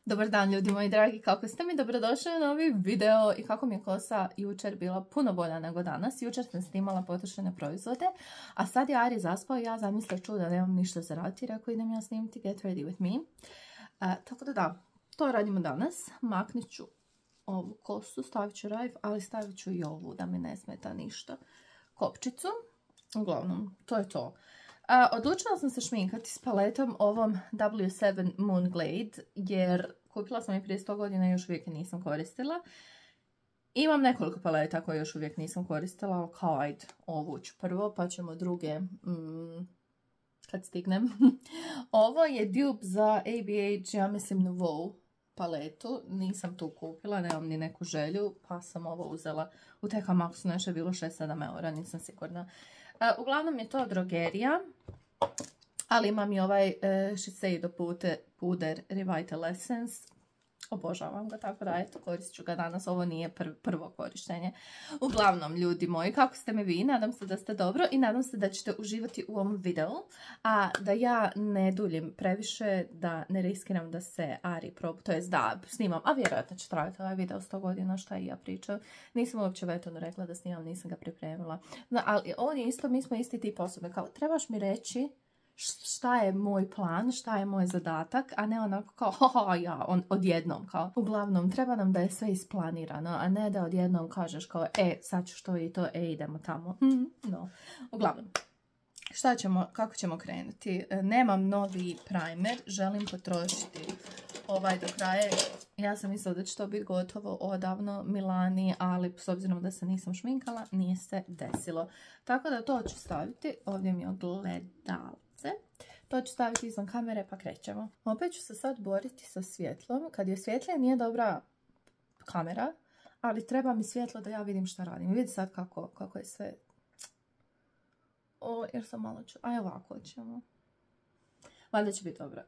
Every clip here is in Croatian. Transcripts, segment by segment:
Dobar dan ljudi moji dragi, kako ste mi? Dobrodošli u novi video i kako mi je kosa jučer bila puno bolja nego danas. Jučer sam snimala potrošene proizvode, a sad je Ari zaspao i ja zamislila da nemam ništa za raditi, rekao idem ja snimiti Get Ready With Me. Tako da, to radimo danas. Maknit ću ovu kosu, stavit ću rajv, ali stavit ću i ovu da mi ne smeta ništa. Kopčicu, uglavnom, to je to. Odlučila sam se šminkati s paletom ovom W7 Moon Glade jer kupila sam je prije 100 godina i još uvijek nisam koristila. Imam nekoliko paleta koje još uvijek nisam koristila, ali kao ajde, ovu ću prvo pa ćemo druge kad stignem. Ovo je dupe za ABH, ja mislim Nouveau paletu, nisam tu kupila, nemam ni neku želju, pa sam ovo uzela u TK Maxu, nešto je bilo 6-7 eura, nisam sigurna. Uglavnom je to drogerija, ali imam i ovaj Shiseido puder Revital Essence. Obožavam ga, tako da eto, koristit ću ga danas. Ovo nije prvo korištenje. Uglavnom, ljudi moji, kako ste mi vi? Nadam se da ste dobro i nadam se da ćete uživati u ovom videu. A da ja ne duljim previše, da ne riskiram da se Ari probu, to jest da snimam, a vjerojatno će trajati ovaj video 100 godina, šta i ja pričam. Nisam uopće Vetonu rekla da snimam, nisam ga pripremila. No, ali on je isto, mi smo isti tip osobe, kao trebaš mi reći šta je moj plan, šta je moj zadatak, a ne onako kao odjednom kao. Uglavnom, treba nam da je sve isplanirano, a ne da odjednom kažeš kao sad ću što i to, idemo tamo. No, uglavnom. Kako ćemo krenuti? Nemam novi primer, želim potrošiti ovaj do kraja. Ja sam mislila da će to biti gotovo odavno Milani, ali s obzirom da se nisam šminkala, nije se desilo. Tako da to ću staviti, ovdje mi je ogledalce. To ću staviti izvan kamere pa krećemo. Opet ću se sad boriti sa svjetlom. Kad je svjetlije nije dobra kamera, ali treba mi svjetlo da ja vidim šta radim. Vidi sad kako je sve. Jer sam malo ću. Aj ovako ćemo. Valjda će biti dobro.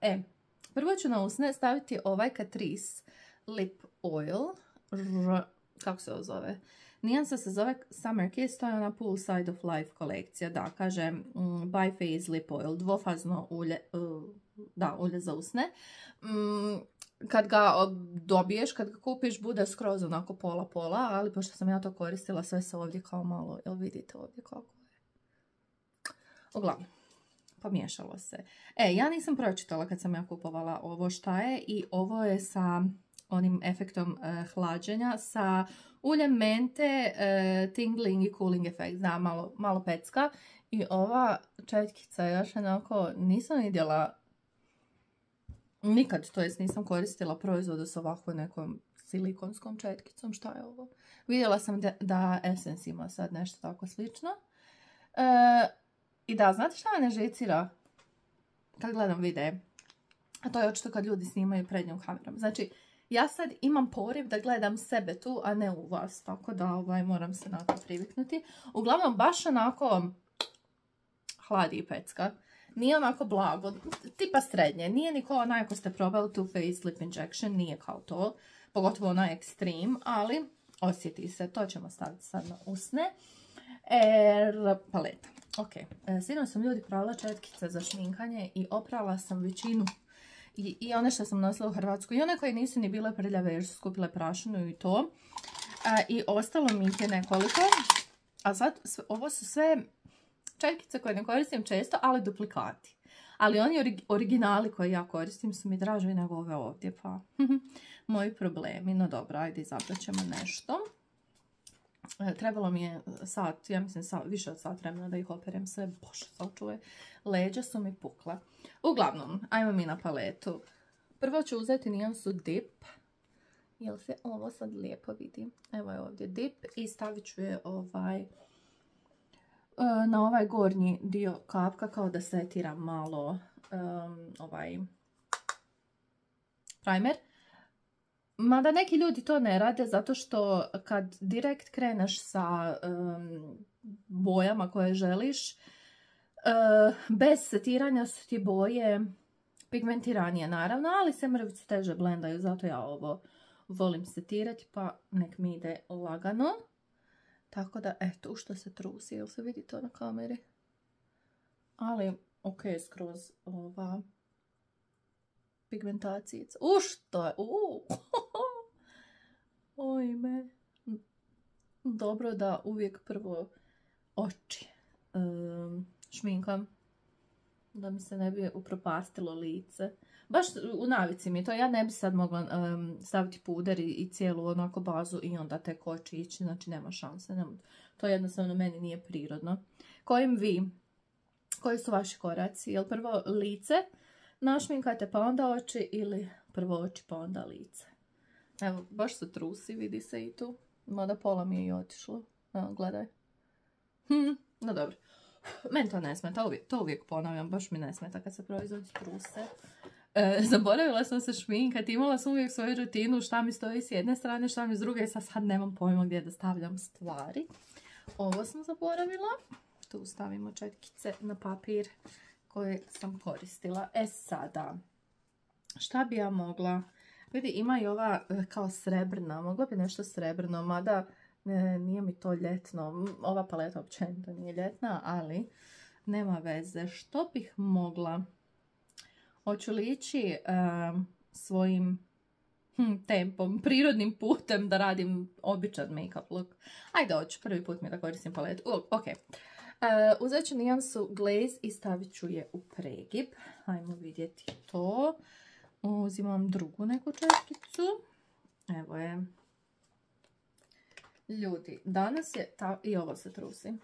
Prvo ću na usne staviti ovaj Catrice Lip Oil. Kako se ovo zove? Nijansa se zove Summer Kiss, to je ona Poolside of Life kolekcija. Da, kaže Biphase Lip Oil, dvofazno ulje, ulje za usne. Kad ga dobiješ, kad ga kupiš, bude skroz onako pola-pola, ali pošto sam ja to koristila, sve se ovdje kao malo, jel vidite ovdje kako je? Uglavnom, pomiješalo se. Ja nisam pročitala kad sam ja kupovala ovo šta je i ovo je sa onim efektom hlađenja, sa uljem mente, tingling i cooling efekt, da, malo pecka. I ova četkica je još onako, nisam vidjela nikad, to jest nisam koristila proizvodu s ovako nekom silikonskom četkicom, šta je ovo? Vidjela sam da Essence ima sad nešto tako slično. I da, znate šta me ne žicira kad gledam videe? A to je očito kad ljudi snimaju prednjom kamerom. Znači, ja sad imam poriv da gledam sebe tu, a ne u vas. Tako da moram se na to priviknuti. Uglavnom, baš onako hladi i pecka. Nije onako blago, tipa srednje. Nije ni kao onaj ako ste probali Too Faced Lip Injection, nije kao to. Pogotovo onaj Extreme, ali osjeti se. To ćemo staviti sad na usne. Paleta. Ok, sinoć sam ljudi pravila četkice za šminkanje i oprala sam većinu i one što sam nosila u Hrvatsku i one koje nisu ni bile prljave jer su skupile prašinu i to. I ostalo mi ih je nekoliko. A sad ovo su sve četkice koje ne koristim često, ali duplikati. Ali oni originali koje ja koristim su mi draži nego ove ovdje, pa moji problemi. No dobro, ajde izabrat ćemo nešto. Trebalo mi je sat, ja mislim više od sat vremena da ih operem sve. Bože, sačuvaj. Leđa su mi pukla. Uglavnom, ajmo mi na paletu. Prvo ću uzeti nijansu Dip. Jel se ovo sad lijepo vidi? Evo je ovdje Dip i stavit ću je na ovaj gornji dio kapka kao da setira malo ovaj primer. Mada neki ljudi to ne rade zato što kad direkt kreneš sa bojama koje želiš, bez setiranja su ti boje pigmentiranije naravno, ali se mrvice teže blendaju, zato ja ovo volim setirati pa nek mi ide lagano. Tako da, eto, što se trusi, jel se vidi to na kameri? Ali, ok, skroz ova pigmentacijica. Što je? Ojme. Dobro da uvijek prvo oči šminkam. Da mi se ne bi upropastilo lice. Baš u navici mi je to. Ja ne bi sad mogla staviti puder i cijelu onako bazu i onda tek oči ići. Znači nema šanse. To jednostavno meni nije prirodno. Koji su vaši koraci? Jel prvo lice našminkate pa onda oči ili prvo oči pa onda lice? Evo, baš se trusi, vidi se i tu. Mada pola mi je i otišlo. Evo, gledaj. No dobro. Meni to ne smeta, to uvijek ponavljam, baš mi ne smeta kad se proizvodi truse. Zaboravila sam se šminkati, imala sam uvijek svoju rutinu, šta mi stoji s jedne strane, šta mi s druge, sad nemam pojma gdje da stavljam stvari. Ovo sam zaboravila. Tu stavimo četkice na papir koje sam koristila. Sada, šta bi ja mogla? Vidi, ima i ova kao srebrna, mogla bi nešto srebrno, mada nije mi to ljetno. Ova paleta općenito nije ljetna, ali nema veze. Što bih mogla? Hoću li ići svojim tempom, prirodnim putem da radim običan make-up look? Ajde, hoću prvi put mi da koristim paletu. Ok. Uzet ću nijansu Glaze i stavit ću je u pregib. Ajmo vidjeti to. Uzimam drugu neku četkicu. Evo je. Ljudi, danas je... I ovo se trusi.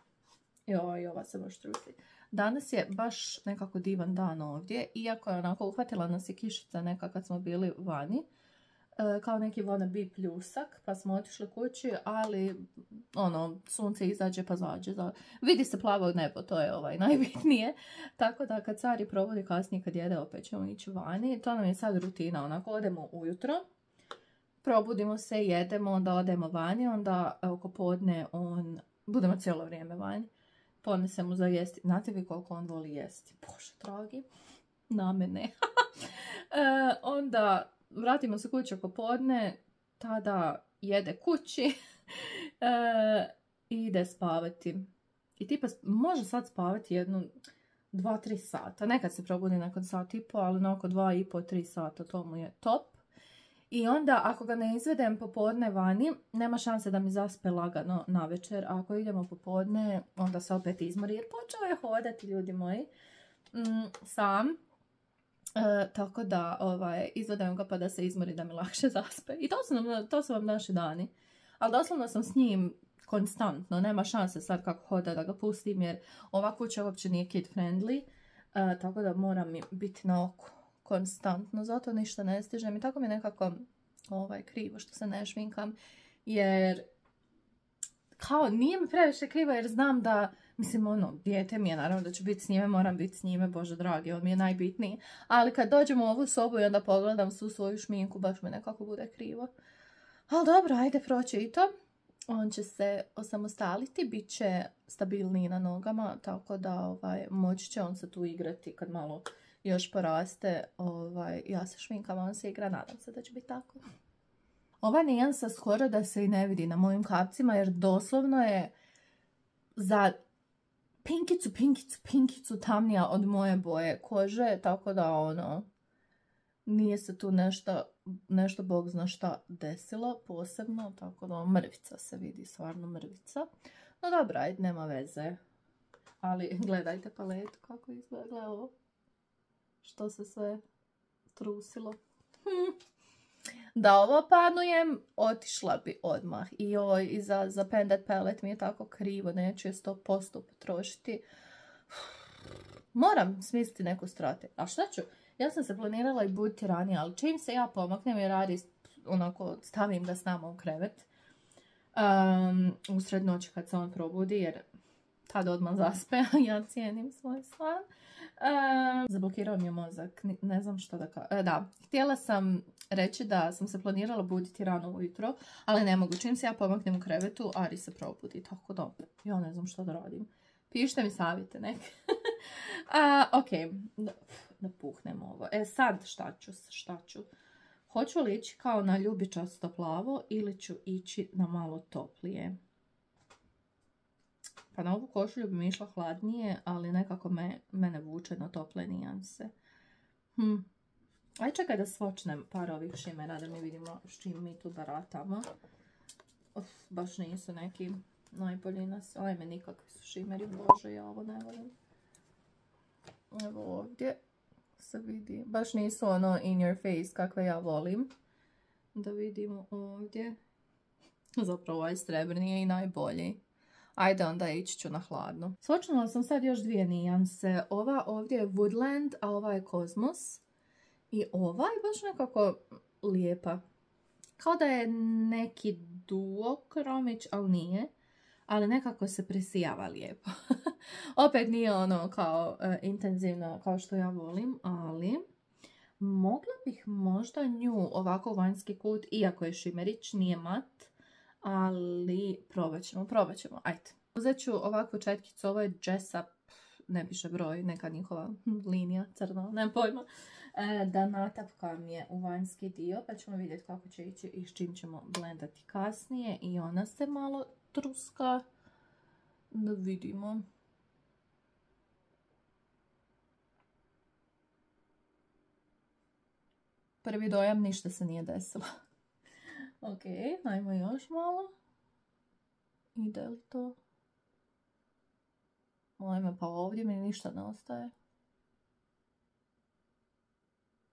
I ova se baš trusi. Danas je baš nekako divan dan ovdje. Iako je onako uhvatila nas je kišica neka kad smo bili vani. Kao neki wannabe pljusak. Pa smo otišli kući, ali sunce izađe pa zađe. Vidi se plavo nebo, to je najbitnije. Tako da kad Sari provodi kasnije kad jede opet ćemo ići vani. To nam je sad rutina. Onako odemo ujutro. Probudimo se, jedemo, onda odemo vani, onda oko podne budemo cijelo vrijeme vani. Ponesemo za jesti. Znate vi koliko on voli jesti? Bože dragi, na mene. Onda vratimo se kući oko podne, tada jede kući i ide spavati. I tipa može sad spavati 2-3 sata. Nekad se probudi nakon sat i po, ali na oko 2,5-3 sata, to mu je top. I onda, ako ga ne izvedem popodne vani, nema šanse da mi zaspe lagano na večer. A ako idemo popodne, onda se opet izmori. Jer počeo je hodati, ljudi moji, sam. Tako da izvedem ga pa da se izmori da mi lakše zaspe. I to su vam naši dani. Ali doslovno sam s njim konstantno. Nema šanse sad kako hoda da ga pustim jer ova kuća uopće nije kid friendly. Tako da moram biti na oku konstantno, zato ništa ne stižem i tako mi je nekako krivo što se ne šminkam, jer kao nije mi previše krivo jer znam da, mislim dijete mi je, naravno da ću biti s njime, moram biti s njime, Bože dragi, on mi je najbitniji, ali kad dođem u ovu sobu i onda pogledam svu svoju šminku, baš mi nekako bude krivo. Ali dobro, ajde proći i to. On će se osamostaliti, bit će stabilniji na nogama, tako da moći će on se tu igrati kad malo još poraste, ja se šminkam, on se igra, nadam se da će biti tako. Ova nijansa skoro da se i ne vidi na mojim kapcima, jer doslovno je za pinkicu tamnija od moje boje kože, tako da nije se tu nešto bog zna šta desilo posebno, tako da mrvica se vidi, stvarno mrvica. No dobro, ajde, nema veze. Ali gledajte paletu kako izgleda ovo. Što se sve trusilo. Da ovo panujem, otišla bi odmah. I za Pendant Palette mi je tako krivo, neću je 100% potrošiti. Moram smisliti neku strategiju. A šta ću? Ja sam se planirala i buditi ranije, ali čim se ja pomaknem i radi, stavim ga s nama u krevet. Usred noći kad se on probudi, jer tad odmah zaspe, ja cijenim svoj san. Zablokirao mi je mozak, ne znam što da kažem. Da, htjela sam reći da sam se planirala buditi rano ujutro, ali ne mogu. Čim se ja pomaknem u krevetu, Ari se probudi, tako da ja ne znam što da radim. Pišite mi savjete neke. Ok, da puhnem ovo. Sad šta ću? Hoću li ići kao na ljubičasto plavo ili ću ići na malo toplije? Pa na ovu košulju bi mi išla hladnije, ali nekako mene vuče na tople nijanse. Aj čekaj da svočnem par ovih šimera da mi vidimo s čim mi tu baratamo. Baš nisu neki najbolji nas. Ajme, nikakvi su šimeri, bože, ja ovo ne volim. Evo ovdje se vidi. Baš nisu ono in your face kakve ja volim. Da vidimo ovdje. Zapravo ovaj srebrni je i najbolji. Ajde onda ići ću na hladno. Svočnula sam sad još dvije nijanse. Ova ovdje je Woodland, a ova je Cosmos. I ova je baš nekako lijepa. Kao da je neki duokromić, ali nije. Ali nekako se presijava lijepo. Opet nije ono kao intenzivno kao što ja volim, ali mogla bih možda nju ovako u vanjski kut, iako je šimerić, nije mat. Ali probat ćemo, ajde. Uzet ću ovakvu četkicu, ovo je Jessup, ne piše broj, neka njihova linija crna, nemam pojma. Da natapkam je u vanjski dio, pa ćemo vidjeti kako će ići i s čim ćemo blendati kasnije. I ona se malo truska, da vidimo. Prvi dojam, ništa se nije desilo. Ok, ajmo još malo. Ide li to? Ajme, pa ovdje mi ništa ne ostaje.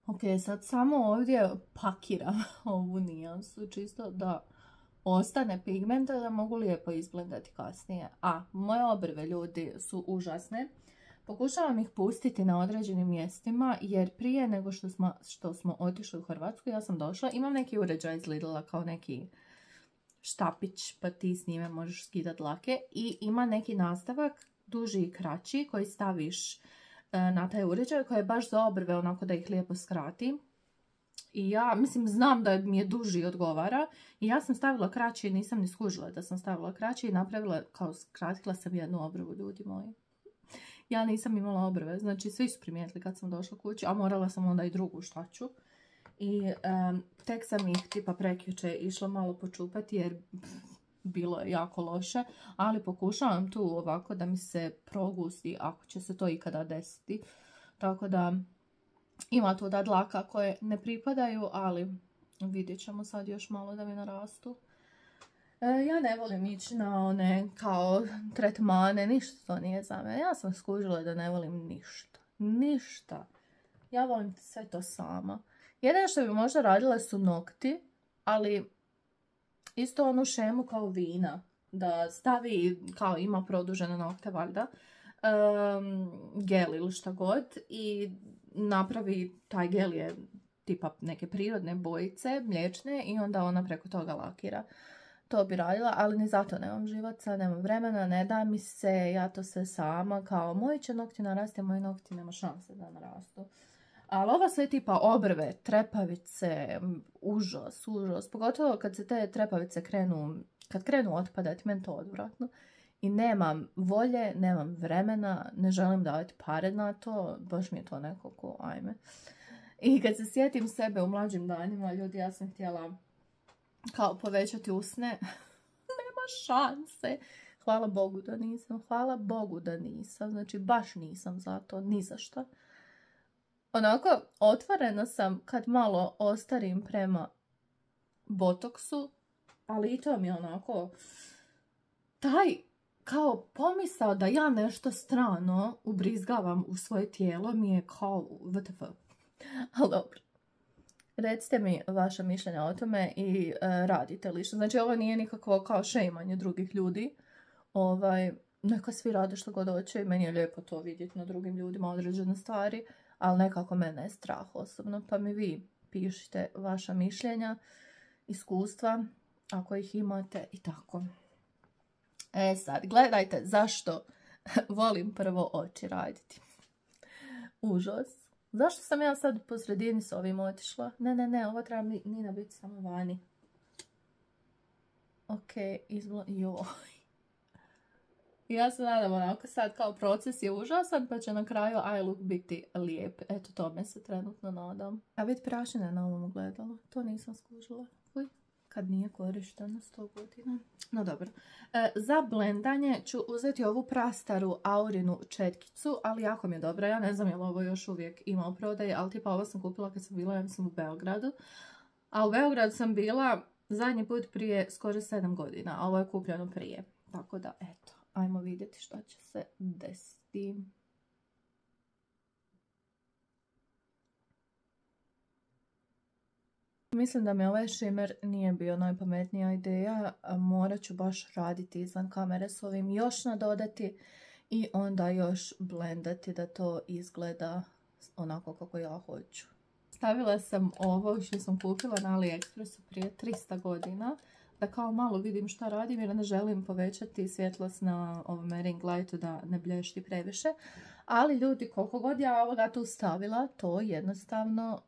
Ok, sad samo ovdje pakiram ovu nijansu, čisto da ostane pigmenta da mogu lijepo izblendati kasnije. A, moje obrve, ljudi, su užasne. Pokušavam ih pustiti na određenim mjestima jer prije nego što smo otišli u Hrvatsku, ja sam došla, imam neki uređaj iz Lidla kao neki štapić, pa ti s njime možeš skidati dlake i ima neki nastavak, duži i kraći, koji staviš na taj uređaj koji je baš za obrve, onako da ih lijepo skrati. I ja, mislim, znam da mi je duži odgovara i ja sam stavila kraći i nisam ni skužila da sam stavila kraći i napravila, kao skratila sam jednu obrvu, ljudi moji. Ja nisam imala obrve, znači svi su primijetili kad sam došla kući, a morala sam onda i drugu, šta ću. I tek sam ih tipa prekjuče išla malo počupati jer bilo je jako loše, ali pokušavam tu ovako da mi se progusti ako će se to ikada desiti. Tako da ima tu da dlaka koje ne pripadaju, ali vidjet ćemo sad još malo da mi narastu. Ja ne volim ići na one kao tretmane, ništa to nije za mene. Ja sam skužila da ne volim ništa. Ništa. Ja volim sve to sama. Jedino što bi možda radila su nokti, ali isto onu šemu kao vina. Da stavi, kao ima produžene nokte valjda, gel ili šta god i napravi, taj gel je tipa neke prirodne bojice, mliječne i onda ona preko toga lakira. To bi radila, ali ni zato nemam živaca, nemam vremena, ne da mi se, ja to sve sama, kao moji će nokti narasti, moji nokti nema šanse da narastu. Ali ova sve tipa obrve, trepavice, užas, pogotovo kad se te trepavice krenu otpadati, meni to odvratno. I nemam volje, nemam vremena, ne želim davati pare na to, baš mi je to nekako, ajme. I kad se sjetim sebe u mlađim danima, ljudi, ja sam htjela kao povećati usne, nema šanse. Hvala Bogu da nisam, znači baš nisam za to, ni za što. Onako, otvorena sam kad malo ostarim prema botoksu, ali i to mi je onako, taj kao pomisao da ja nešto strano ubrizgavam u svoje tijelo mi je kao WTF. Ali dobro. Recite mi vaše mišljenja o tome i radite li što. Znači ovo nije nikakvo kao šejmanje drugih ljudi. Neka svi rade što god hoće i meni je lijepo to vidjeti na drugim ljudima određene stvari, ali nekako mene je strah osobno. Pa mi vi pišite vaša mišljenja, iskustva, ako ih imate i tako. Sad, gledajte zašto volim prvo oči raditi. Užas. Zašto sam ja sad po sredini s ovim otišla? Ne, ovo treba Nina biti samo vani. Ok, joj. Ja se nadam onako sad kao proces je užasan, pa će na kraju eye look biti lijep. Eto, tome se trenutno nadam. A vidi prašine na ovom ogledalu. To nisam skužila. Uj. kad nije korišteno 100 godina. No dobro. Za blendanje ću uzeti ovu prastaru Aurinu četkicu, ali jako mi je dobra. Ja ne znam je li ovo još uvijek ima u prodaji, ali tipa ovo sam kupila kad sam bila, ja mislim, u Beogradu. A u Beogradu sam bila zadnji put prije skoro 7 godina, a ovo je kupljeno prije. Tako da, eto, ajmo vidjeti što će se desiti. Mislim da mi ovaj shimmer nije bio najpametnija ideja, morat ću baš raditi izvan kamere s ovim, još nadodati i onda još blendati da to izgleda onako kako ja hoću. Stavila sam ovo što sam kupila na AliExpressu prije 300 godina, da kao malo vidim šta radim jer ne želim povećati svjetlost na ovome ring lightu da ne blješti previše. Ali ljudi, koliko god ja ovoga tu stavila, to jednostavno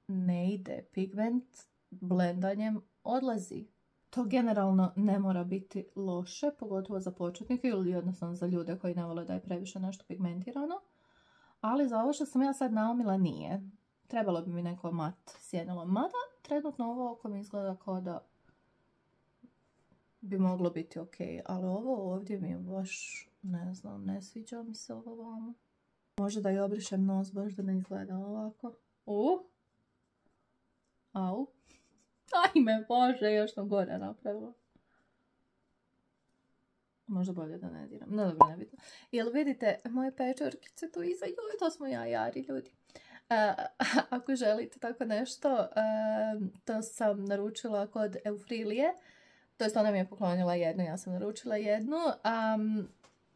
ne ide. Pigment blendanjem odlazi. To generalno ne mora biti loše, pogotovo za početnike ili jednostavno za ljude koji ne vole da je previše nešto pigmentirano. Ali za ovo što sam ja sad naumila nije. Trebalo bi mi neko mat sjenilo. Mada trenutno ovo oko mi izgleda kao da bi moglo biti ok. Ali ovo ovdje mi je baš, ne znam, ne sviđa mi se ovo vamo. Možda da i obrišem nos baš da ne izgleda ovako. Au. Ajme Bože, još sam gore napravila. Možda bolje da ne diram. No dobro, ne bitno. Jel vidite moje pečurkice tu iza? Joj, to smo ja jari ljudi. Ako želite tako nešto, to sam naručila kod Eufrilije. To jest ona mi je poklonila jednu, ja sam naručila jednu.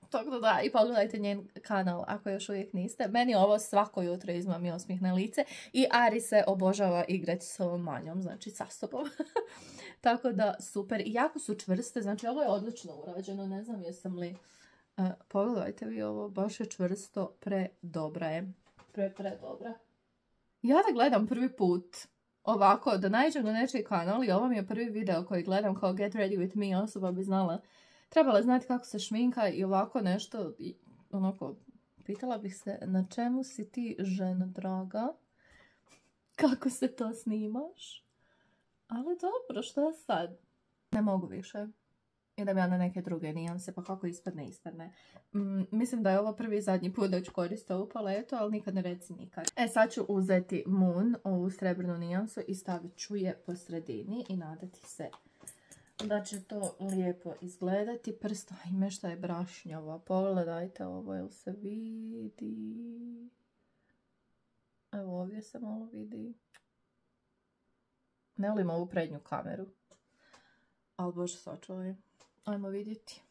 Tako da i pogledajte njen kanal ako još uvijek niste. Meni ovo svako jutro izmami osmijeh na lice. I Ari se obožava igrati s ovom manjom, znači sa sobom. Tako da super. I jako su čvrste, znači ovo je odlično urađeno. Ne znam jesam li... pogledajte vi ovo, baš je čvrsto, predobra je. Predobra. Ja da gledam prvi put ovako, da naiđem na nečiji kanal i ovo mi je prvi video koji gledam kao Get Ready With Me, osoba bi znala. Trebala znati kako se šminka i ovako nešto, onako, pitala bih se na čemu si ti, žena draga, kako se to snimaš, ali dobro, što sad? Ne mogu više. Idem ja na neke druge nijanse, pa kako ispadne. Mislim da je ovo prvi i zadnji put da ću koristiti ovu paletu, ali nikad ne reci nikad. Sad ću uzeti Moon, ovu srebrnu nijansu, i stavit ću je po sredini i nadati se da će to lijepo izgledati. Prst, ajme šta je brašnjava. Pogledajte ovo, jel se vidi? Evo ovdje se malo vidi. Ne volim ovu prednju kameru. Ali bože sačuvaj. Ajmo vidjeti.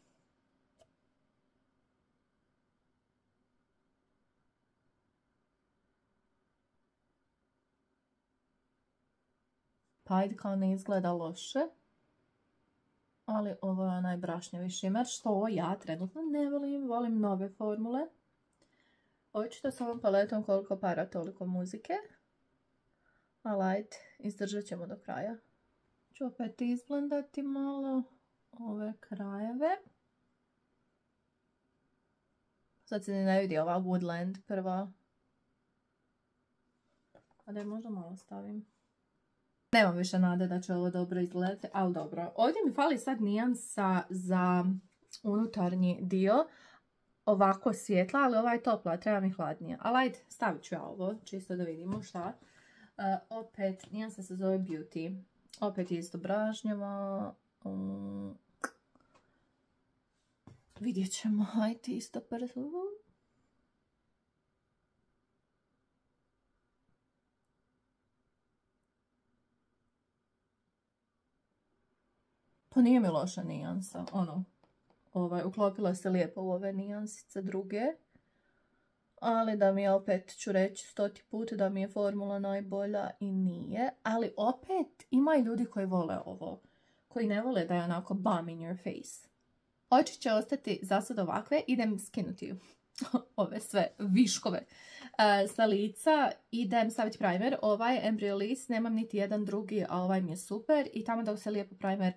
Pa ajde, kao ne izgleda loše. Ali ovo je onaj brašnjavi šimer, što ja trenutno ne volim. Volim nove formule. Očito s ovom paletom koliko para, toliko muzike. Ali ajde, izdržat ćemo do kraja. Ću opet izblendati malo ove krajeve. Sad se ne vidi ova Woodland prva. A da je možda malo stavim. Nemam više nade da će ovo dobro izgledati, ali dobro. Ovdje mi fali sad nijansa za unutarnji dio. Ovako svjetla, ali ova je topla, treba mi hladnija. Ali ajde, stavit ću ja ovo, čisto da vidimo šta. Opet, nijansa se zove Beauty. Opet isto brašnjava. Vidjet ćemo, ajde isto prvo. Pa nije mi loša nijansa, uklopila se lijepo u ove nijansice druge. Ali da mi je, opet ću reći 100. put da mi je formula najbolja i nije. Ali opet ima i ljudi koji vole ovo. Koji ne vole da je onako bam in your face. Oči će ostati za sad ovakve. Idem skinuti ove sve viškove sa lica. Idem staviti primer. Ovaj Embryolisse, nemam niti jedan drugi, a ovaj mi je super. I tamo dok se lijepo primer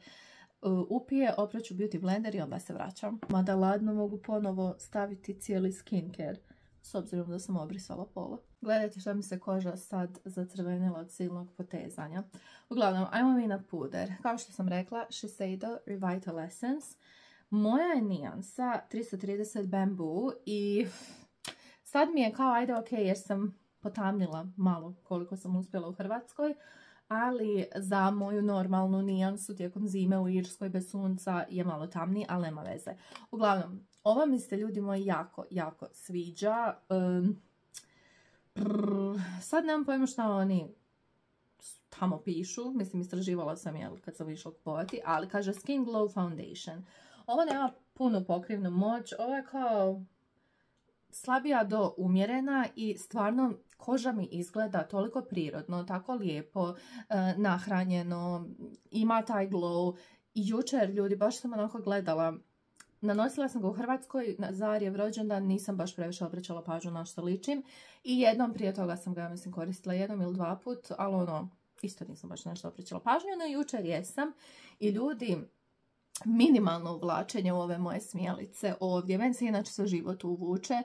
upije, opraću Beauty Blender i onda se vraćam. Mada ladno mogu ponovo staviti cijeli skincare s obzirom da sam obrisala pola. Gledajte šta mi se koža sad zacrvenila od silnog potezanja. Uglavnom, ajmo mi na puder. Kao što sam rekla, Shiseido Revital Essence. Moja je nijansa 330 Bamboo i sad mi je kao ajde ok jer sam potamnila malo koliko sam uspjela u Hrvatskoj, ali za moju normalnu nijansu tijekom zime u Irskoj bez sunca je malo tamniji, ali nema veze. Uglavnom, ova mi se ljudi moji jako sviđa. Sad nemam pojma šta oni tamo pišu, mislim istraživala sam je kad sam išla kupovati, ali kaže Skin Glow Foundation. Ovo nema puno pokrivnu moć, ovo je kao slabija do umjerena i stvarno koža mi izgleda toliko prirodno, tako lijepo, nahranjeno, ima taj glow. I jučer, ljudi, baš sam onako gledala, nanosila sam ga u Hrvatskoj za Arijev rođendan, nisam baš previše obraćala pažnju na što ličim i jednom prije toga sam ga, mislim, koristila jednom ili dva put, ali ono, isto nisam baš nešto obraćala pažnju, no jučer jesam i ljudi, minimalno uvlačenje u ove moje smjelice ovdje, meni se inače sve život uvuče,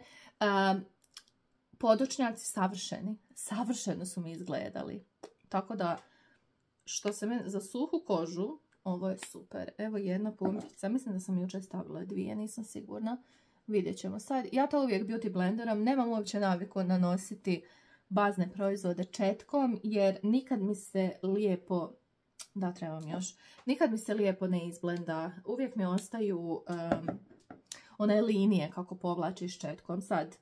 podočnjaci savršeno su mi izgledali, tako da što se meni za suhu kožu, ovo je super. Evo jedna pumpica, mislim da sam jučer stavila dvije, nisam sigurna, vidjet ćemo sad. Ja to uvijek beauty blenderom, nemam uopće naviku nanositi bazne proizvode četkom, jer nikad mi se lijepo, da trebam još, nikad mi se lijepo ne izblenda, uvijek mi ostaju one linije kako povlačiš četkom. Sad,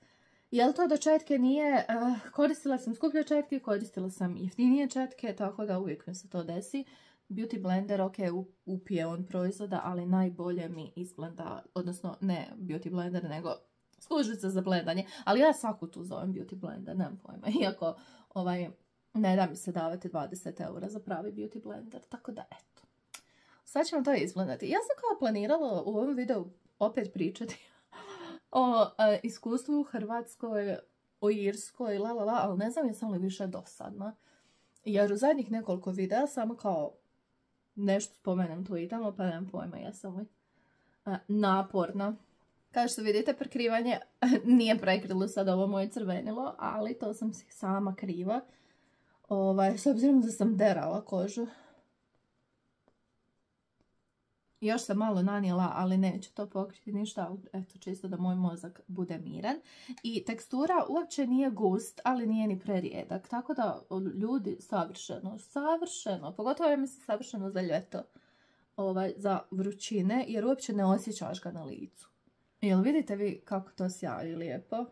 jel to da četke nije, koristila sam skuplje četke, koristila sam jeftinije četke, tako da uvijek mi se to desi. Beauty blender, ok, upije on proizvoda, ali najbolje mi izblenda, odnosno ne beauty blender, nego službica za blendanje. Ali ja svaku tu zovem beauty blender, nemam pojma, iako ne da mi se davati 20 eura za pravi beauty blender, tako da eto. Sad ćemo to izblendati. Ja sam kao planirala u ovom videu opet pričati o iskustvu u Hrvatskoj, o Irskoj, ali ne znam jesam li više dosadna. Jer u zadnjih nekoliko videa samo kao nešto spomenem tu i tamo, pa nemam pojma, jesam li naporna. Kao što vidite, prekrivanje nije prekrilo sad ovo moje crvenilo, ali to sam si sama kriva. S obzirom da sam derala kožu. Još sam malo nanijela, ali neće to pokriti ništa, eto, čisto da moj mozak bude miran. I tekstura uopće nije gust, ali nije ni prerijedak, tako da ljudi savršeno, pogotovo ja mislim savršeno za ljeto, za vrućine, jer uopće ne osjećaš ga na licu. Jel vidite vi kako to sjaji lijepo?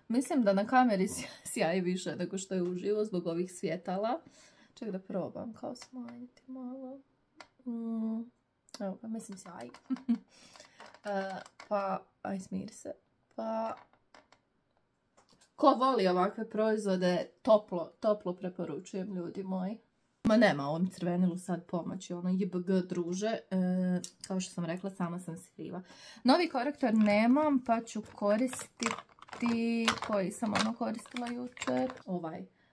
Mislim da na kameri sjaji više nego što je uživo zbog ovih svjetala. Ček da probam kao smanjiti malo. Evo ga, mislim sjaji. Pa, aj smiri se. Pa, ko voli ovakve proizvode, toplo preporučujem, ljudi moji. Ma nema ovom crvenilu sad pomoći, ono JBG druže, kao što sam rekla, sama sam si kriva. Novi korektor nemam, pa ću koristiti, koji sam koristila jučer,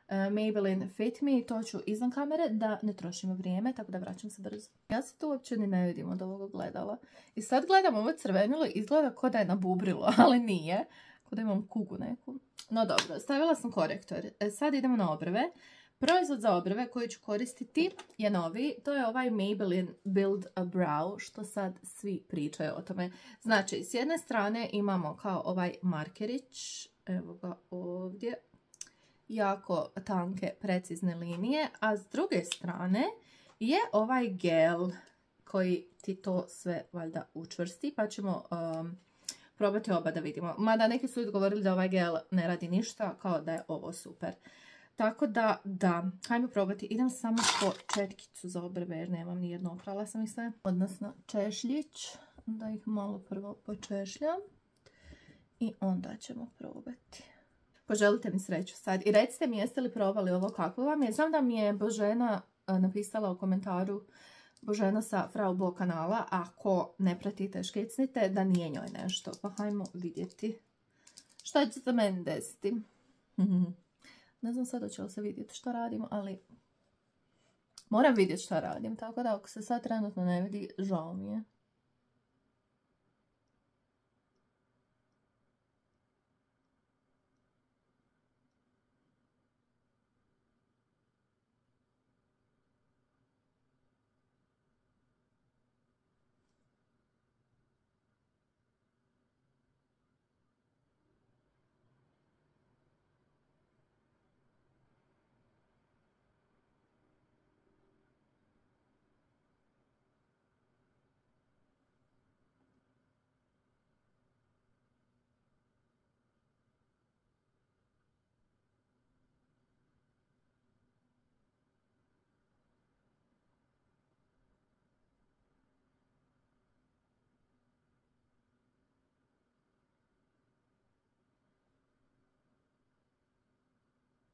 Maybelline Fit Me, to ću izvan kamere da ne trošimo vrijeme, tako da vraćam se brzo. Ja se to uopće ni ne vidim od ovog gledala. I sad gledam ovo crvenilo i izgleda kao da je nabubrilo, ali nije. Kao da imam kugu neku. No dobro, stavila sam korektor. Sad idemo na obrve. Proizvod za obrve koji ću koristiti je novi. To je ovaj Maybelline Build a Brow, što sad svi pričaju o tome. Znači, s jedne strane imamo kao ovaj markerić, evo ga ovdje, jako tanke, precizne linije, a s druge strane je ovaj gel koji ti to sve valjda učvrsti, pa ćemo probati oba da vidimo. Mada neki su govorili da ovaj gel ne radi ništa, kao da je ovo super. Tako da, hajmo probati. Idem samo po četkicu za obrve jer nemam nijedno, oprala sam ih sve. Odnosno češljić, da ih malo prvo počešljam i onda ćemo probati. Poželite mi sreću sad i recite mi jeste li probali ovo kako vam je. Znam da mi je Božena napisala u komentaru, Božena sa Frau Bo kanala, ako ne pratite škicnite, da nije njoj nešto. Pa hajmo vidjeti šta će za meni desiti. Ne znam sad hoće li se vidjeti što radim, ali moram vidjeti što radim, tako da ako se sad trenutno ne vidi, žao mi je.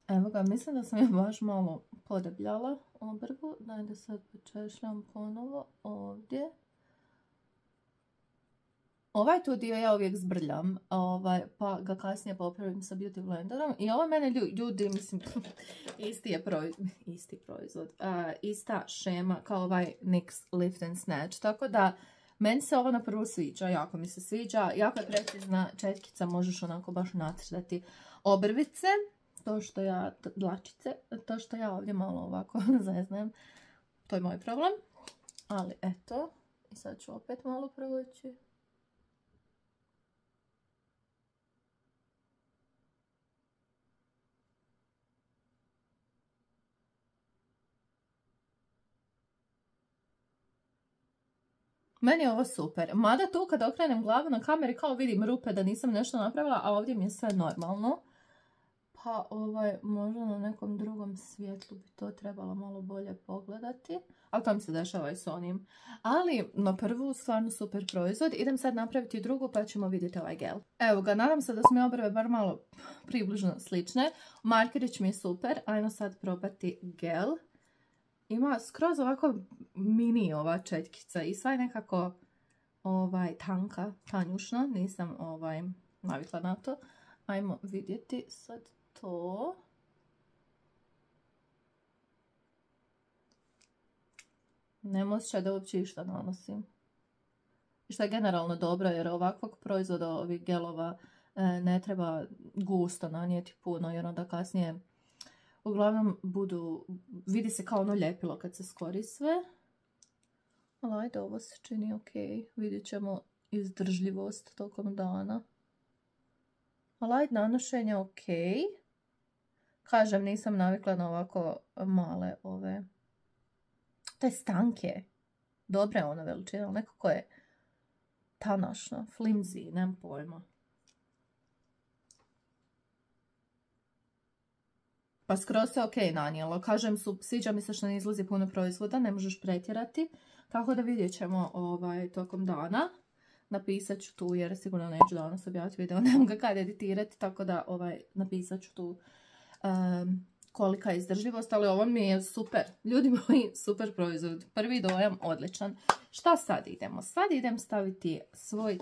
Evo ga, mislim da sam je baš malo podebljala obrvu. Daj da sad počešljam ponovo ovdje. Ovaj tu dio ja uvijek zbrljam, pa ga kasnije popravim sa Beauty Blenderom. I ovo mene ljudi, mislim, isti proizvod, ista šema kao ovaj NYX Lift and Snatch. Tako da, meni se ovo na prvu sviđa, jako mi se sviđa. Jako je precizna četkica, možeš onako baš nacrtati obrvice. To što ja ovdje malo ovako zeznajem, to je moj problem. Ali eto, i sad ću opet malo provući. Meni je ovo super. Mada tu kad okrenem glavu na kameri kao vidim rupe da nisam nešto napravila, a ovdje mi je sve normalno. Pa možda na nekom drugom svjetlu bi to trebalo malo bolje pogledati. Ali to mi se dešava i s onim. Ali na prvu stvarno super proizvod. Idem sad napraviti drugu pa ćemo vidjeti ovaj gel. Evo ga, nadam se da su mi obrve bar malo približno slične. Markerić mi je super. Ajmo sad probati gel. Ima skroz ovako mini ova četkica i sva je nekako tanka, tanjušna. Nisam navikla na to. Ajmo vidjeti sad to. Nema osjećaj da uopće išta nanosim. I što je generalno dobro jer ovakvog proizvoda, ovih gelova, ne treba gusto nanijeti puno jer onda kasnije uglavnom vidi se kao ono ljepilo kad se skori sve. Ali ajde, ovo se čini ok. Vidjet ćemo izdržljivost tokom dana. Ali ajde, nanošenje ok. Kažem, nisam navikla na ovako male ove. To je stanke. Dobre je ono veličine, ali nekako je tanašno, flimsy, nemam pojma. Pa skroz se ok nanijelo. Kažem, sviđa mi se što ne izlazi puno proizvoda, ne možeš pretjerati. Tako da vidjet ćemo tokom dana. Napisat ću tu, jer sigurno neću danas objaviti video, nemam ga kad editirati, tako da napisat ću tu kolika je izdržljivost, ali ovo mi je super. Ljudi moji, super proizvod. Prvi dojam odličan. Šta sad idemo? Sad idem staviti svoj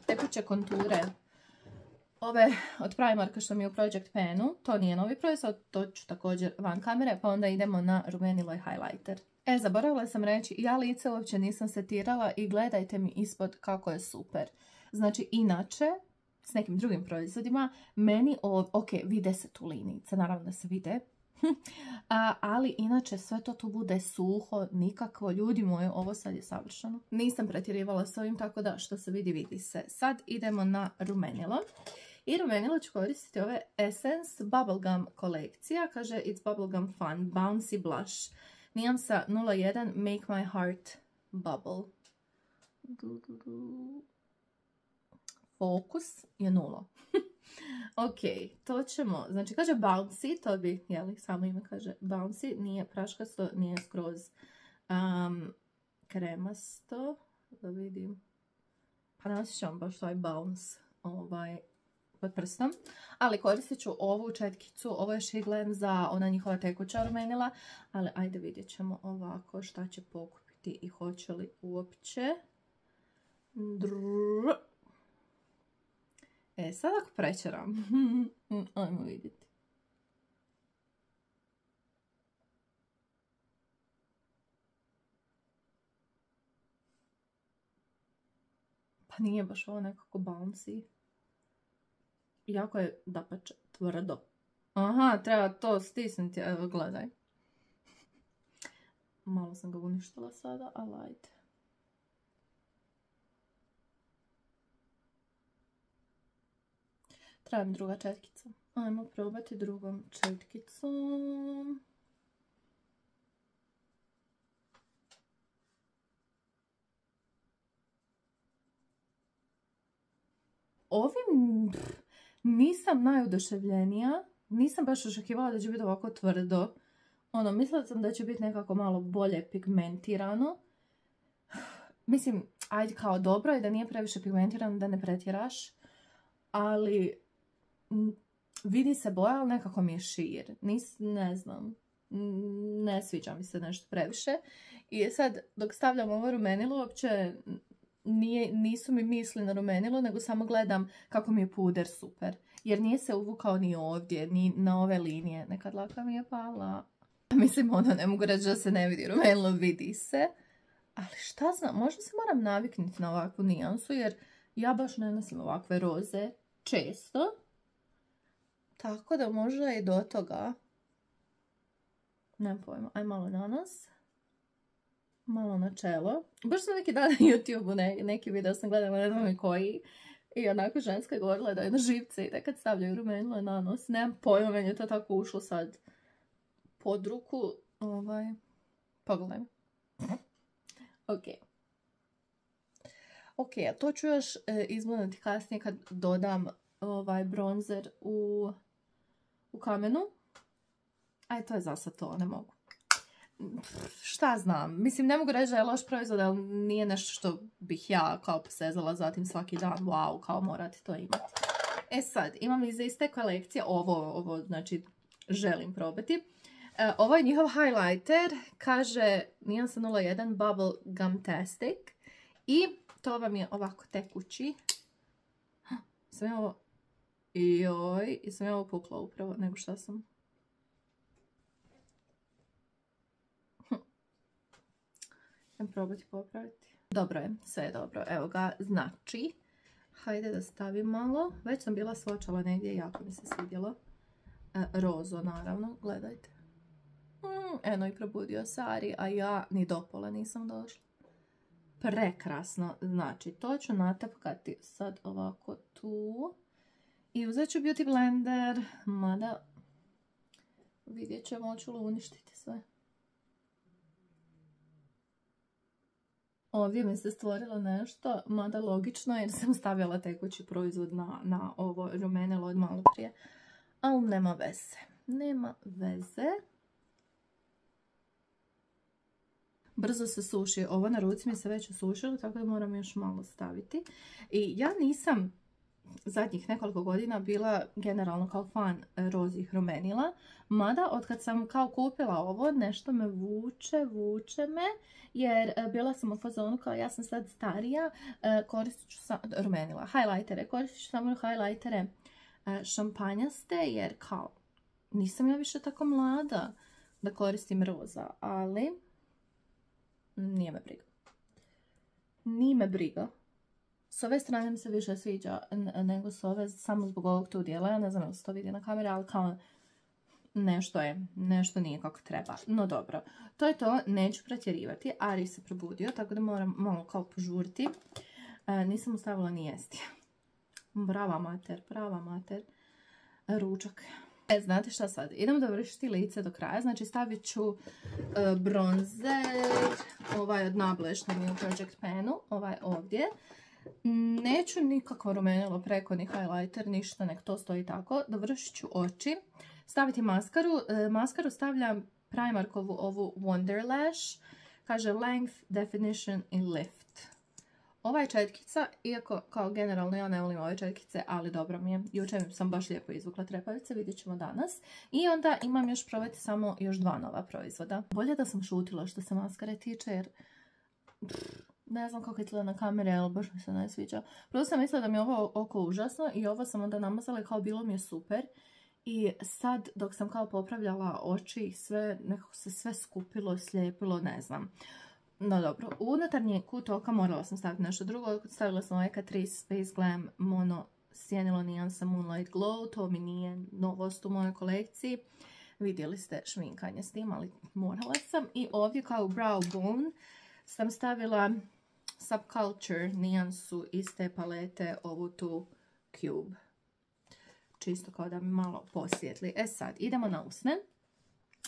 tekuće konture. Ove od Primarka što mi je u Project Penu. To nije novi proizvod, to ću također van kamere, pa onda idemo na rumenilo i highlighter. Zaboravila sam reći, ja lice uopće nisam setirala i gledajte mi ispod kako je super. Znači, inače, s nekim drugim proizvodima, meni ok, vide se tu linijice, naravno da se vide, ali inače sve to tu bude suho, nikakvo, ljudi moji, ovo sad je savršeno. Nisam pretjerivala s ovim, tako da što se vidi, vidi se. Sad idemo na rumenilo. I rumenilo ću koristiti ove Essence Bubblegum kolekcija, kaže It's Bubblegum Fun, Bouncy Blush. Nijansa 01 Make My Heart Bubble. Fokus je 0. Ok, to ćemo, znači kaže bouncy, to bi, jeli, samo ime kaže bouncy, nije praškasto, nije skroz kremasto, da vidim, pa ne osjećam baš taj bounce, pod prstom, ali koristit ću ovu četkicu, ovo je Shiglen za ona njihova tekuća rumenila, ali ajde vidjet ćemo ovako šta će pokupiti i hoće li uopće. Sad ako prečeram, ajmo vidjeti. Pa nije baš ovo nekako bouncy. Jako je dapače tvrdo. Aha, treba to stisnuti, evo gledaj. Malo sam ga uništila sada, ali ajde. Treba mi druga četkica. Ajmo probati drugom četkicom. Ovim nisam najuduševljenija. Nisam baš očekivala da će biti ovako tvrdo. Mislila sam da će biti nekako malo bolje pigmentirano. Mislim, ajde kao dobro je da nije previše pigmentirano, da ne pretjeraš. Ali vidi se boja, ali nekako mi je šir. Ne znam. Ne sviđa mi se nešto previše. I sad, dok stavljam ovo rumenilo, uopće nisu mi misli na rumenilo, nego samo gledam kako mi je puder super. Jer nije se uvukao ni ovdje, ni na ove linije. Nekad laka mi je pala. Mislim, ne mogu reći da se ne vidi rumenilo, vidi se. Ali šta znam, možda se moram naviknuti na ovakvu nijansu, jer ja baš ne nosim ovakve roze često. Tako da možda i do toga. Nemam pojma, aj malo na nos. Malo na čelo. Baš sam neki dan na YouTube-u neki video sam gledala, ne znam koji. I onako ženska je govorila da je na živce i da kad stavljaju rumenilo na nos. Nemam pojma, meni je to tako ušlo sad pod ruku. Pogledajmo. Ok, a to ću još izgledati kasnije kad dodam bronzer u kamenu. Aj, to je za sad to, ne mogu. Šta znam, mislim, ne mogu reći da je loš proizvod, ali nije nešto što bih ja kao posezala zatim svaki dan, wow, kao morate to imati. E sad, imam iz iste kolekcije, ovo znači želim probati. Ovo je njihov highlighter, kaže nijansa 01 Bubble Gumtastic i to vam je ovako tekući. Sam ja ovo... Joj, i sam ja ovo pukla upravo, nego šta sam... probati popraviti. Dobro je, sve je dobro. Evo ga, znači. Hajde da stavim malo. Već sam bila svočala negdje, jako mi se svidjelo. Rozo, naravno, gledajte. Eno i probudio se Ari, a ja ni do pola nisam došla. Prekrasno. Znači, to ću natapkati sad ovako tu. I uzet ću Beauty Blender, mada vidjet ćemo, hoću li uništiti sve. Ovdje mi se stvorilo nešto, mada logično jer sam stavljala tekući proizvod na ovo rumenilo od malo prije. Ali nema veze. Nema veze. Brzo se suši. Ovo na ruci mi se već osušilo, tako da moram još malo staviti. I ja nisam zadnjih nekoliko godina bila generalno kao fan rozih rumenila. Mada otkad sam kao kupila ovo, nešto me vuče me. Jer bila sam u fazonu kao ja sam sad starija, koristit ću rumenila, highlightere, koristit ću samo highlightere šampanjaste, jer kao nisam ja više tako mlada da koristim roza, ali nije me briga. Nije me briga. S ove strane mi se više sviđa nego s ove, samo zbog ovog tu dijela, ja ne znam da se to vidi na kameri, ali kao nešto nije kako treba. No dobro, to je to, neću pretjerivati. Ari se probudio, tako da moram malo kao požuriti. Nisam mu stavila ni jesti. Brava mater. Ručak. Znate šta sad? Idemo dovršiti lice do kraja. Znači stavit ću bronzer, ovaj od Nable što mi je u Project Panu, ovaj ovdje. Neću nikakvo rumenilo preko, ni highlighter, ništa, nek to stoji tako. Dovršit ću oči. Staviti maskaru. Maskaru stavljam Primarkovu ovu Wonder Lash. Kaže Length, Definition i Lift. Ova je četkica, iako kao generalno ja ne volim ove četkice, ali dobro mi je. Jučer sam baš lijepo izvukla trepavice, vidjet ćemo danas. I onda imam još probati samo još 2 nova proizvoda. Bolje da sam šutila što se maskare tiče, jer ne znam kako izgleda na kamere, ali baš mi se ne sviđa. Prvo sam mislila da mi je ovo oko užasno i ovo sam onda namazala i kao bilo mi je super. I sad dok sam kao popravljala oči, nekako se sve skupilo, slijepilo, ne znam. No dobro, u unutarnji kut oka morala sam staviti nešto drugo. Stavila sam ovaj Catrice Space Glam Mono Sjenilo nijansa Moonlight Glow. To mi nije novost u mojoj kolekciji. Vidjeli ste šminkanje s tim, ali morala sam. I ovdje kao Brow Bone sam stavila Subculture nijansu iz te palete, ovu tu Cube. Čisto kao da mi malo posvijetli. E sad, idemo na usne.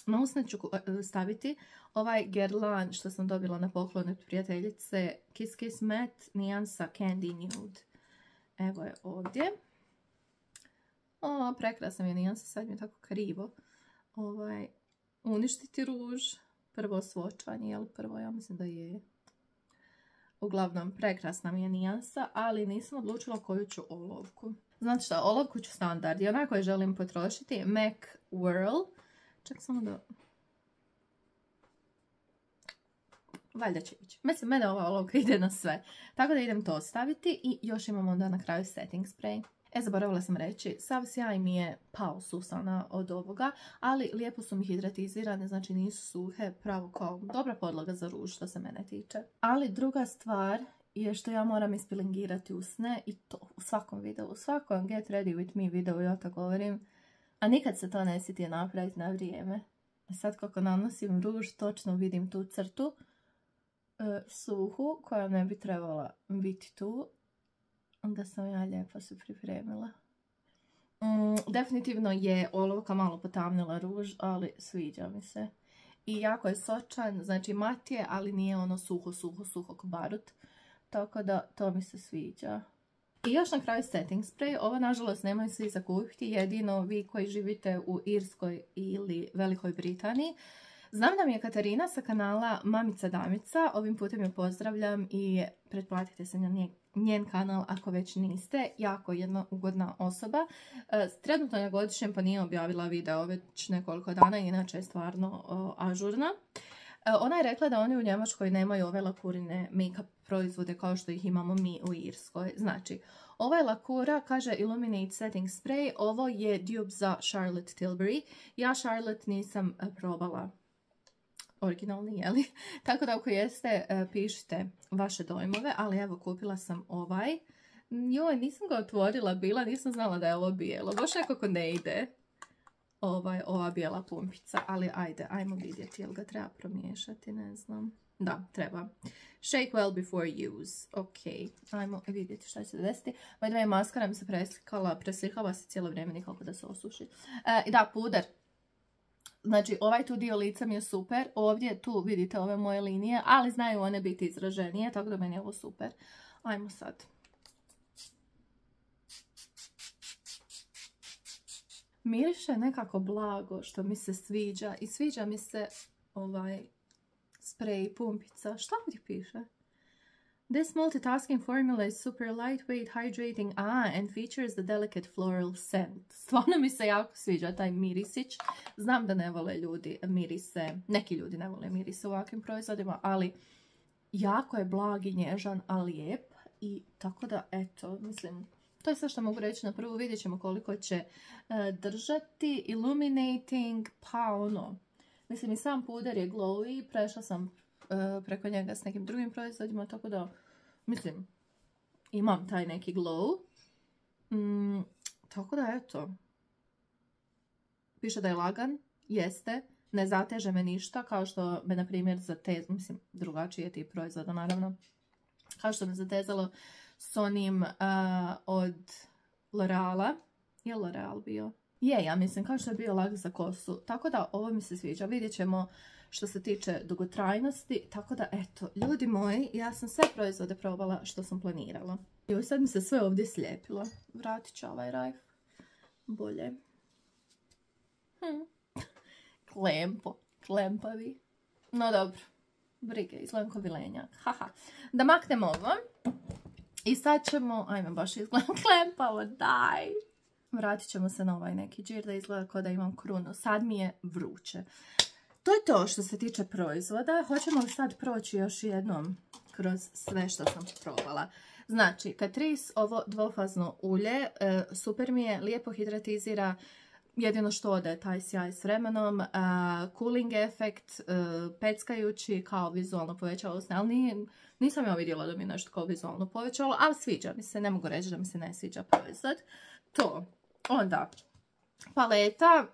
Na usne ću staviti ovaj Guerlain što sam dobila na poklon od prijateljice Kiss Kiss Matte nijansa Candy Nude. Evo je ovdje. O, prekrasna mi je nijansa, sad mi je tako krivo. Uništiti ruž. Prvo svočanje, jel prvo? Ja mislim da je. Uglavnom, prekrasna mi je nijansa, ali nisam odlučila koju ću olovku. Znate šta, olovku ću standard i onako je želim potrošiti. MAC Whirl. Čak samo da... Valjda će ići. Mislim, mene ova olovka ide na sve. Tako da idem to staviti i još imamo onda na kraju setting spray. Zaboravila sam reći, sav sjaj mi je pao susana od ovoga, ali lijepo su mi hidratizirane, znači nisu suhe, pravo kao dobra podloga za ruž što se mene tiče. Ali druga stvar je što ja moram ispilingirati usne i to u svakom videu, u svakom Get Ready With Me videu ja to govorim, a nikad se to ne sjeti napraviti na vrijeme. Sad kako nanosim ruž, točno vidim tu crtu suhu koja ne bi trebala biti tu. Onda sam ja lijepo se pripremila. Definitivno je olovka malo potamnila ruž, ali sviđa mi se. I jako je sočan, znači mat je, ali nije ono suho ko barut. Tako da to mi se sviđa. I još na kraju setting spray. Ovo nažalost nemaju svi za kupiti, jedino vi koji živite u Irskoj ili Velikoj Britaniji. Znam da mi je Katarina sa kanala Mamica Damica, ovim putem je pozdravljam i pretplatite se na njen kanal ako već niste, jako jedna ugodna osoba. Trenutno je godišnjem pa nije objavila video već nekoliko dana, inače je stvarno ažurna. Ona je rekla da oni u Njemačkoj nemaju ove lakurine make-up proizvode kao što ih imamo mi u Irskoj. Znači, ova je lakura, kaže Illuminate Setting Spray, ovo je dupe za Charlotte Tilbury. Ja Charlotte nisam probala originalni, jeli? Tako da ako jeste, pišite vaše dojmove, ali evo kupila sam ovaj. Joj, nisam ga otvorila bila, nisam znala da je ovo bijelo. Baš nekako ne ide ova bijela pumpica, ali ajde, ajmo vidjeti, jel ga treba promiješati, ne znam. Da, treba. Shake well before use. Ok, ajmo vidjeti šta će se desiti. Moja maskara mi se preslikava se cijelo vrijeme, nikako da se osuši. Da, puder. Znači, ovaj tu dio lica mi je super. Ovdje tu vidite ove moje linije, ali znaju one biti izraženije, tako da meni je ovo super. Ajmo sad. Miriše nekako blago, što mi se sviđa. I sviđa mi se ovaj spray pumpica. Šta ovdje piše? This multitasking formula is super lightweight, hydrating, and features the delicate floral scent. Stvarno mi se jako sviđa taj mirisić. Znam da ne vole ljudi mirise, neki ljudi ne vole mirise u ovakvim proizvodima, ali jako je blag i nježan, a lijep. I tako da, eto, mislim, to je sve što mogu reći na prvu. Vidjet ćemo koliko će držati. Illuminating, pa ono, mislim i sam puder je glowy, prešla sam preko njega s nekim drugim proizvodima, tako da, mislim, imam taj neki glow. Tako da, eto. Piše da je lagan, jeste, ne zateže me ništa, kao što me, na primjer, zatezalo, mislim, drugačiji je tip proizvoda, naravno, kao što me zatezalo s onim od L'Oreala. Je L'Oreal bio? Je, ja mislim, kao što je bio lag za kosu. Tako da, ovo mi se sviđa. Vidjet ćemo što se tiče dugotrajnosti. Tako da, eto, ljudi moji, ja sam sve proizvode probala što sam planirala. I sad mi se sve ovdje slijepilo. Vratit ću ovaj rajf. Bolje. Klempavi. No dobro, brige, izgledam ko vilenjak. Haha. Da maknemo ovo. I sad ćemo, ajme baš izgledam klempavo, daj. Vratit ćemo se na ovaj neki džir da izgleda kao da imam krunu. Sad mi je vruće. To je to što se tiče proizvoda. Hoćemo li sad proći još jednom kroz sve što sam probala. Znači, Catrice, ovo dvofazno ulje, super mi je, lijepo hidratizira, jedino što ode taj sjaj s vremenom, cooling efekt, peckajući, kao vizualno povećalo usne, ali nisam ja vidjela da mi je nešto kao vizualno povećalo, ali sviđa mi se, ne mogu reći da mi se ne sviđa proizvod. To, onda, paleta,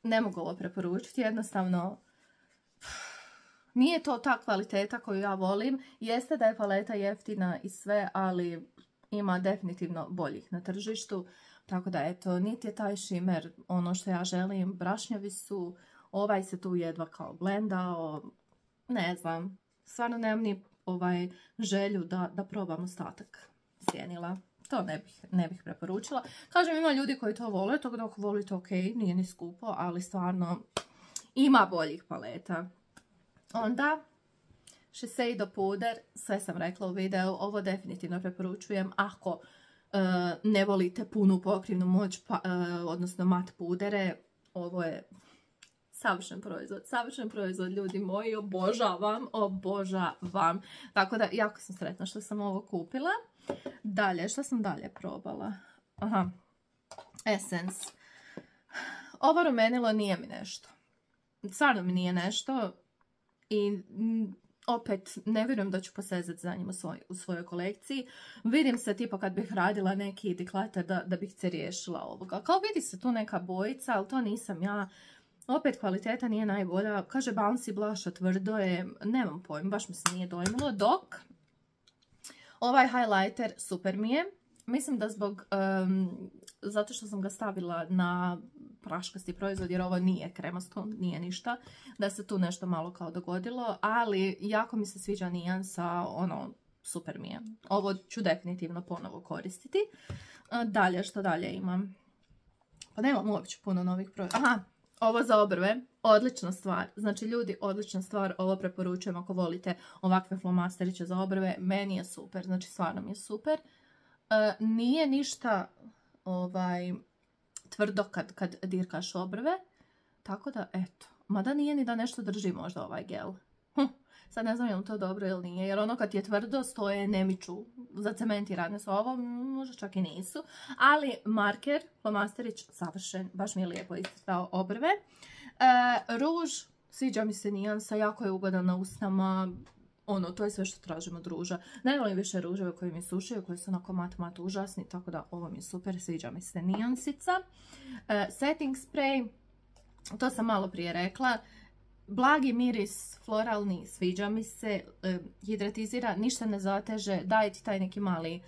ne mogu ovo preporučiti, jednostavno, nije to ta kvaliteta koju ja volim. Jeste da je paleta jeftina i sve, ali ima definitivno boljih na tržištu. Tako da eto, niti je taj šimer ono što ja želim. Brašnjavi su, ovaj se tu jedva kao blendao. Ne znam, stvarno nemam ni želju da probam ostatak sjenila. To ne bih preporučila. Kažem, ima ljudi koji to vole, tako da ako volite ok, nije ni skupo, ali stvarno ima boljih paleta. Onda, Shiseido puder, sve sam rekla u videu, ovo definitivno preporučujem ako ne volite punu pokrivnu moć, odnosno mat pudere, ovo je savršen proizvod, ljudi moji, obožavam. Tako da, jako sam sretna što sam ovo kupila. Dalje, što sam dalje probala? Aha, Essence. Ovo rumenilo nije mi nešto. Stvarno mi nije nešto. I opet, ne vjerujem da ću posezati za njim u svojoj kolekciji. Vidim se, tipa kad bih radila neki declutter da bih se riješila ovoga. Kao vidi se tu neka bojica, ali to nisam ja. Opet kvaliteta nije najbolja. Kaže Bouncy Blush, tvrdo je. Nemam pojma, baš mi se nije dojmilo. Dok ovaj highlighter super mi je. Mislim da zato što sam ga stavila na praškasti proizvod, jer ovo nije kremasto, nije ništa, da se tu nešto malo kao dogodilo, ali jako mi se sviđa nijansa, super mi je. Ovo ću definitivno ponovo koristiti. Dalje, što dalje imam? Pa nemam uopće puno novih proizvoda. Aha, ovo za obrve, odlična stvar. Znači ljudi, odlična stvar, ovo preporučujem ako volite ovakve flomasteriće za obrve, meni je super, znači stvarno mi je super. Nije ništa tvrdo kad dirkaš obrve, tako da eto, mada nije ni da nešto drži možda ovaj gel. Sad ne znam je li to dobro ili nije, jer ono kad ti je tvrdo stoje nemiču, zacementirane su ovo, možda čak i nisu, ali marker, flomasterić, savršen, baš mi je lijepo isticao obrve. Ruž, sviđa mi se nijansa, jako je ugodan na usnama, to je sve što tražim od ruža. Ne volim više ruževe koji mi sušaju, koji su onako mat užasni, tako da ovo mi je super, sviđa mi se nijansica. Setting spray, to sam malo prije rekla. Blagi miris, floralni, sviđa mi se, hidratizira, ništa ne zateže, daje ti taj neki mali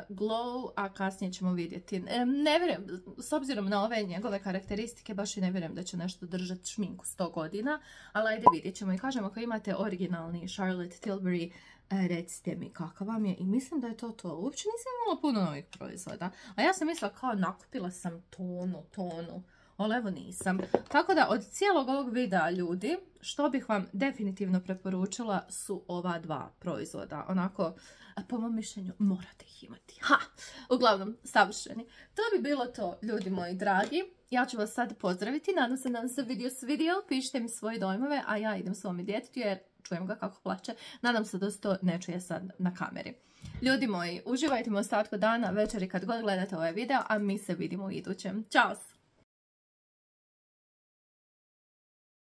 glow, a kasnije ćemo vidjeti. Ne vjerujem, s obzirom na ove njegove karakteristike, baš i ne vjerujem da će nešto držati šminku 100 godina, ali ajde vidjet ćemo. I kažem, ako imate originalni Charlotte Tilbury, recite mi kakav vam je. I mislim da je to to. Uopće nisam imala puno novih proizvoda. A ja sam mislila kao nakupila sam tonu. Ali evo nisam. Tako da od cijelog ovog videa, ljudi, što bih vam definitivno preporučila su ova dva proizvoda. Onako, po mom mišljenju, morate ih imati. Uglavnom, savršeni. To bi bilo to, ljudi moji dragi. Ja ću vas sad pozdraviti. Nadam se da vam se video svidio. Pišite mi svoje dojmove, a ja idem svome djetetu jer čujem ga kako plače. Nadam se da se to ne čuje sad na kameri. Ljudi moji, uživajte u ostatku dana, večeri kad god gledate ovaj video, a mi se vidimo u idućem. Ćao!